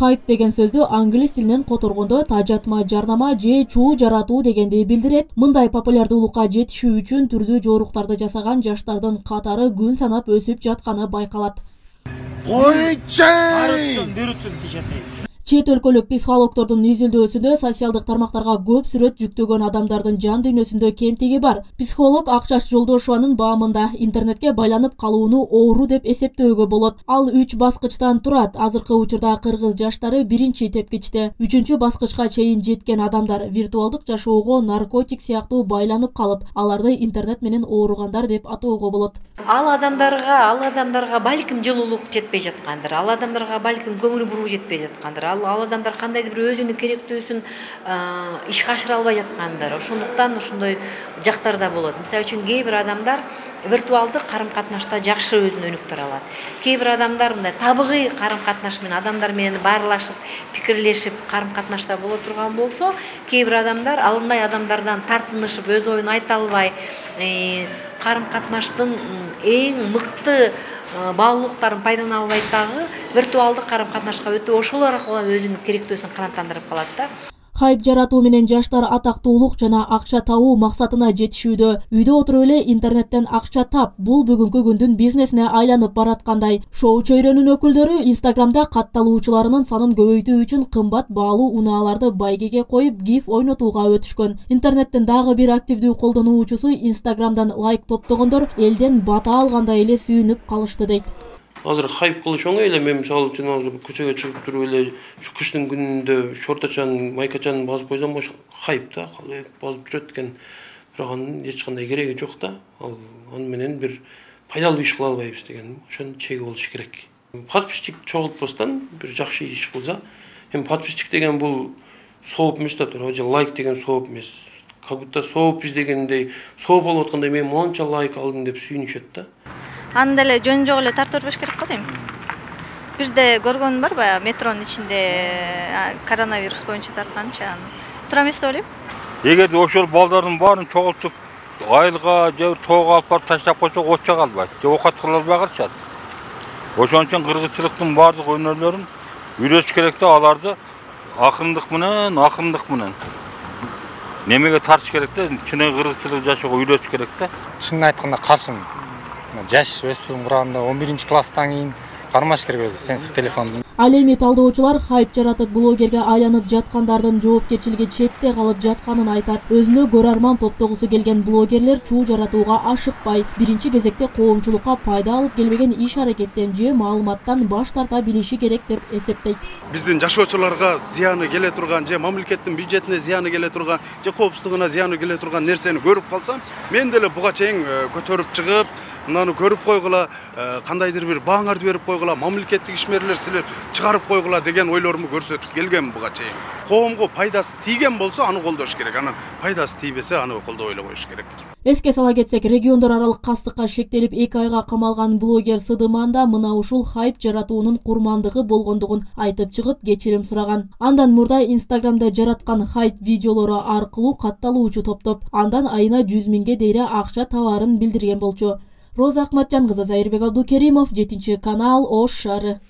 Хайп деген сөздү англис тилинен которгондо тажатма жарнама же чуу жаратуу дегенди билдирет. Мындай популярдуулукка жетишүү үчүн түрдүү жоруктарды жасаган жаштардын катары күн санап өсүп жатканы байкалат. Чет өлкөлүк психологдордун изилдөөсүндө социалдык тармактарга көп сүрөт жүктөгөн адамдардын жан дүйнөсүндө кемтиги бар. Психолог Акчаш Жолдошованын баамында интернетке байланып калууну оору деп эсептөөгө болот. Ал 3 баскычтан турат. Азыркы учурда кыргыз жаштары биринчи тепкичте. 3-чү баскычка чейин жеткен адамдар виртуалдык жашоого наркотик сыяктуу байланып калып, аларды интернет менен ооругандар деп атоого болот. Ал адамдарга балким жылуулук жетпей жаткандыр. Ал адамдарга балким көңүл буруу жетпей жаткандыр. Ал адамдар кандайдыр бир өзүнүн керектүүсүн ишке ашыра албай жаткандыр. Ошондуктан ошондой жактар да болот. Мисалы үчүн кээ бир адамдар виртуалдык карым-катнашта жакшы өзүн өнүктүрө алат. Кээ бир адамдар мындай табигый карым-катнаш менен адамдар менен баарлашып, пикирлешип карым-катнашта боло турган болсо, кээ бир адамдар алындай адамдардан тартынышып, өз оюн айта албай, карым-катнаштын эң мыкты баалуулуктарын пайдалана албай дагы виртуалдык карым-катнашка өтүп, ошол аркылуу өзүнүн керектүүсүн канааттандырып калат да. Хайп жаратуу менен жаштар атактуулук жана акча табуу максатына жетишүүдө. Үйдө отуруп эле интернеттен акча тап. Бул бүгүнкү күндүн бизнесине айланып бараткандай. Шоу чөйрөнүн өкүлдөрү Инстаграмда катталуучуларынын санын көбөйтүү үчүн кымбат баалуу унааларды байгеге коюп, гиф ойнотууга өтүшкөн. Интернеттин дагы бир активдүү колдонуучусу Инстаграмдан лайк топтогондор элден бата алгандай эле сүйүнүп калышты дейт. Азыр хайп кылыш оңой эле. Мен мисалы үчүн азыр көчөгө чыгып туруп эле кыштын күнүндө шорточан, майкачан басып койсом, ошо хайп да, басып жүрөт экен. Бирок анын эч кандай кереги жок да. Аны менен бир пайдалуу иш кыла албайбыз деген. Ошонун чеги болуш керек. Подписчик чогултпастан бир жакшы иш кылса, эми подписчик деген бул сооп эмес да, же лайк деген сооп эмес. Как будто сооппуз дегендей, сооп болуп аткандай мен монча лайк алдым деп сүйүнүшөт да. Аны деле жөн жок эле тартып бербеш керек го дейм. Бирде көргөнүм бар баягы метронун ичинде коронавирус боюнча тартканчы. Туура эмес деп ойлойм. Эгерде ошол балдардын баарын чогултуп айылга же тоого алып барып таштап койсок, отча калбайт, же окат кыла албай калышат. Ошон үчүн кыргызчылыктын баардык өнөрлөрүн үйрөтүш керек да, аларды акындык менен немеге тартыш керек да, чыныгы кыргызчылык жашоого үйрөтүш керек да. Чынын айтканда каршымын. Жаш өспүрүм кураганда 11-класстан кийин кармаш керек өзү сенсор телефондун. Ал эми талдоочулар хайп жаратып блогерге айланып жаткандардын жоопкерчилиги четте калып жатканын айтат. Өзүнө көрөрман топтогусу келген блогерлер чуу жаратууга ашыкпай, биринчи кезекте коомчулукка пайда алып келбеген иш-аракеттен же маалыматтан баш тарта билиши керек деп эсептейт. Биздин жашоочуларга зыяны келе турган, же мамлекеттин бюджетине зыяны келе турган, же коопсуздугуна зыяны келе турган нерсени көрүп калсам, мен деле буга чейин көтөрүп чыгып, мынаны көрүп койгула, кандайдыр бир бааңарды берип койгула, мамлекеттик ишмерлер силер чыгарып койгула деген ойлоруму көрсөтүп келгем буга чейин. Коомго пайдасы тийген болсо аны колдош керек, анан пайдасы тийбесе аны колдобой эле коюш керек. Эске сала кетсек, региондор аралык кастыкка шектелип 2 айга камалган блогер Сыдыман да мына ушул хайп жаратуунун курмандыгы болгондугун айтып чыгып, кечирим сураган. Андан мурда Инстаграмда жараткан хайп видеолору аркылуу катталуучу топтоп, андан айына 100 миңге дейре акча табаарын билдирген болчу. Роза Акматжан кызы, Зайырбек Абдукеримов, 7 канал, Ош шаары.